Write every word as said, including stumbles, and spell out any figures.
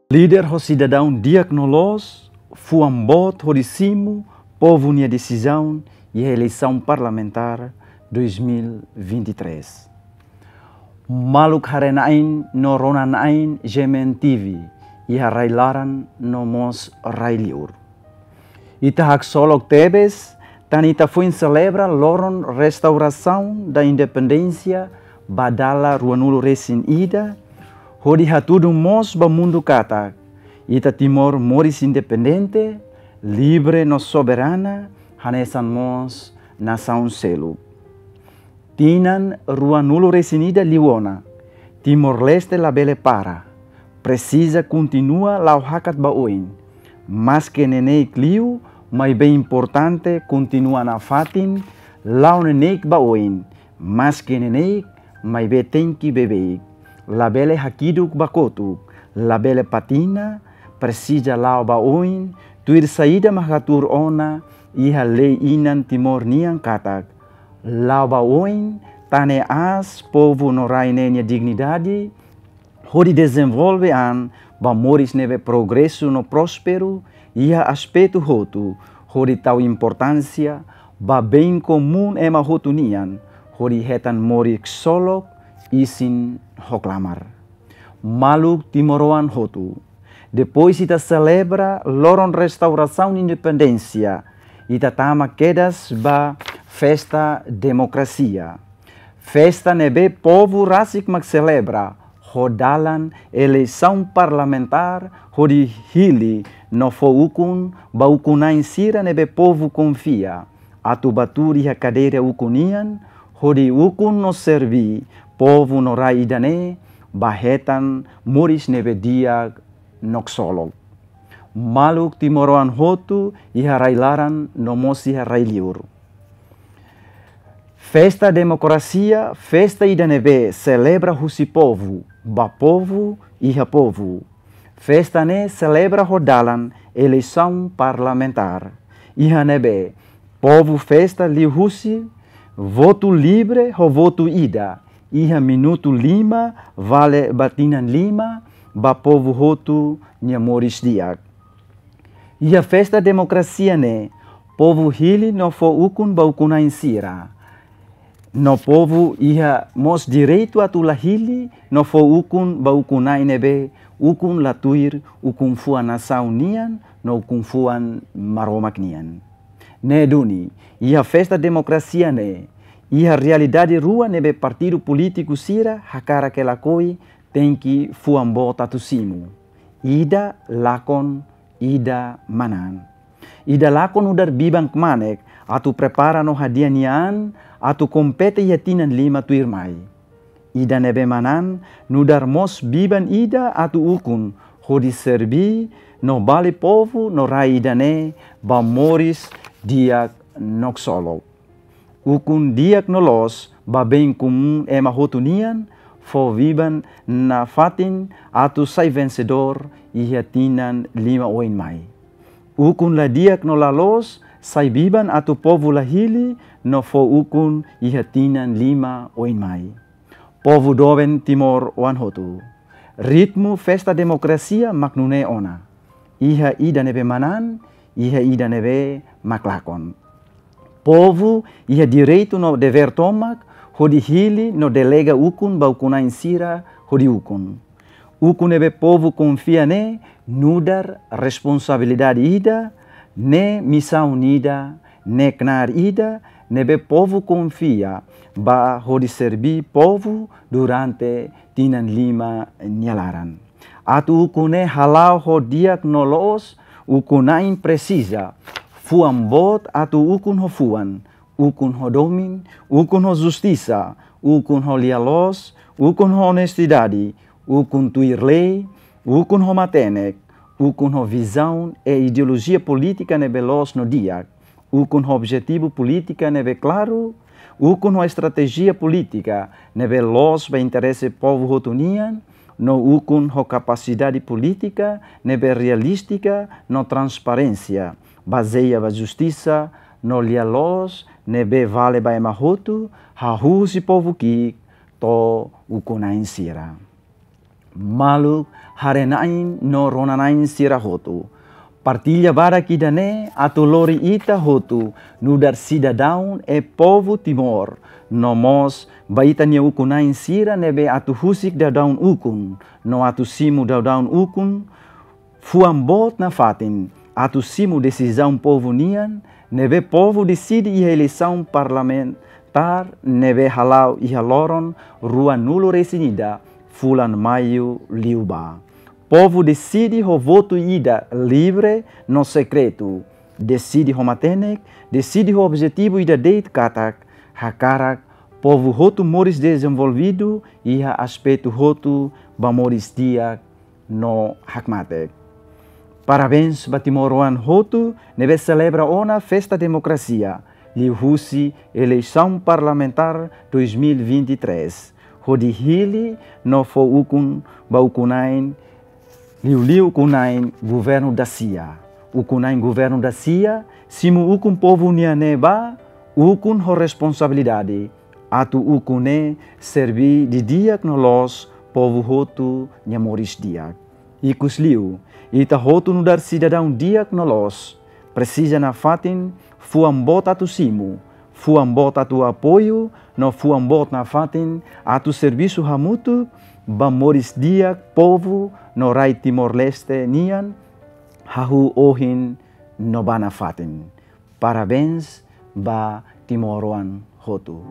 Líder ho sidadaun di'ak no loos, fuan boot hodi simu povu nia desizaun iha eleisaun parlamentár dois mil e vinte e três. Maluk haree-na'in no rona-na'in G M N T V, iha rai-laran no mós rai-liur. Ita haksolok tebes, tan ita foin selebra loron restaurasaun da independénsia ba dala ruanulu-resin-ida, hodi hatudu mós ba mundu katak ita Timor moris independente, livre no soberana, hanesan mós nasaun seluk. Tinan ruanulu-resin-ida liu ona, Timor-Leste labele para, presiza kontinua la'o hakat ba oin. Maske neineik liu, maibé importante kontinua nafatin, la'o neineik ba oin. Maske neineik, maibé tenke beibeik. Labele hakiduk ba kotuk, labele patina, presiza la'o ba oin, tuir saida mak hatuur ona iha lei-inan Timor nian katak, la'o ba oin, tane aas povu no rai ne'e nia dignidade, hodi dezenvolve an ba moris ne'ebé progresu no prósperu iha aspetu hotu, hodi tau importánsia ba bem komún ema hotu nian, hodi hetan moris ksolok, isin ho klamar. Maluk timoroan hotu, depois ita selebra loron restaurasaun independénsia, ita tama kedas ba festa demokrasia. Festa ne'ebé povu rasik mak selebra, ho dalan eleisaun parlamentár, hodi hili no fó ukun ba ukun-na'in sira ne'ebé povu konfia atu bá tuur iha kadeira ukun nian, hodi ukun no serví povu no rai ida-ne'e ba hetan moris ne'ebé di'ak no ksolok. Maluk timoroan hotu iha rai-laran no mós iha rai-liur. Festa demokrasia, festa ida ne'ebé selebra husi povu, ba povu, iha povu. Festa ne'e selebra ho dalan eleisaun parlamentár, iha ne'ebé povu festa liuhusi votu livre ho votu ida, iha minutu lima vale ba tinan lima, ba povu hotu nia moris di'ak. Iha festa demokrasia ne'e, povu hili no fó ukun ba ukun-na'in sira. No povu iha mós direitu atu la hili no fó ukun ba ukun-na'in ne'ebé ukun la tuir ukun-fuan nasaun nian no ukun-fuan Maromak nian. Ne'e duni, iha festa demokrasia ne'e, iha realidade rua ne'ebé partidu polítiku sira hakarak ka lakohi tenke fuan boot atu simu. Ida lakon, ida manán. Ida lakon nu'udar biban kmanek atu prepara no hadi'a nia an atu kompete iha tinan lima tuirmai. Ida ne'ebé manán nu'udar mós biban ida atu ukun hodi serví no bali povu no rai ida-ne'e ba moris di'ak no ksolok. Ukun di'ak no loos ba bem komún ema hotu nian, fó biban nafatin atu sai vensedór iha tinan lima oin mai. Ukun la di'ak no la loos sai biban atu povu la hili no fó ukun iha tinan lima oin mai. Povu doben timoroan hotu. Ritmu festa demokrasia mak nune'e ona. Iha ida ne'ebé manán, iha ida ne'ebé mak lakon. Povu iha direitu no devér tomak hodi hili no delega ukun ba ukun-na'in sira hodi ukun. Ukun ne'ebé povu konfia ne'e nu'udar responsabilidade ida, ne'e misaun ida, ne'e knaar ida ne'ebé povu konfia ba hodi serví povu durante tinan lima nia laran. Atu ukun ne'e hala'o ho di'ak no loos, ukun-na'in presiza fuan boot atu ukun ho fuan, ukun ho domin, ukun ho justisa, ukun ho lia-loos, ukun ho onestidade, ukun tuir lei, ukun ho matenek, ukun ho vizaun i ideolojia polítika ne'ebé loos no di'ak, ukun ho objetivu polítika ne'ebé klaru, ukun ho estratéjia polítika ne'ebé loos ba interese povu hotu nian, no ukun ho kapasidade polítika ne'ebé realístika no transparénsia, bazeia ba justisa no lia-loos ne'ebé vale ba ema hotu, hahú husi povu ki'ik to'o ukun-na'in sira. Maluk, haree-na'in no rona-na'in sira hotu. Partilla badak ida-ne'e atu lori ita hotu nu'udar sidadaun e povu Timor, no mós ba ita-nia ukun-na'in sira ne'ebé atu husik daudaun ukun, no atu simu daudaun ukun, fuan boot nafatin atu simu desizaun povu nian, ne'ebé povu deside iha eleisaun parlamentár ne'ebé hala'o iha loron ruanulu-resin-ida fulan Maiu liubá. Povu deside ho votu ida livre no sekretu. Deside ho matenek, deside ho objetivu ida de'it katak hakarak povu hotu moris dezenvolvidu iha aspetu hotu ba moris di'ak no hakmatek. Parabéns ba timoroan hotu ne'ebé selebra ona festa demokrasia liuhusi eleisaun parlamentár dois mil e vinte e três, hodi hili no fó ukun ba ukun-na'in, liuliu ukun-na'in governu dasia. Ukun-na'in governu dasia simu ukun povu nian ne'e ba ukun ho responsabilidade, atu ukun ne'e serbí didi'ak no loos povu hotu nia moris di'ak. Ikusliu, ita hotu nu'udar sidadaun di'ak no loos presiza nafatin fuan boot atu simu, fuan boot atu apoiu, no fuan boot nafatin atu servisu hamutuk ba moris di'ak povu no rai Timor-Leste nian, hahú ohin no ba nafatin. Parabéns ba timoroan hotu.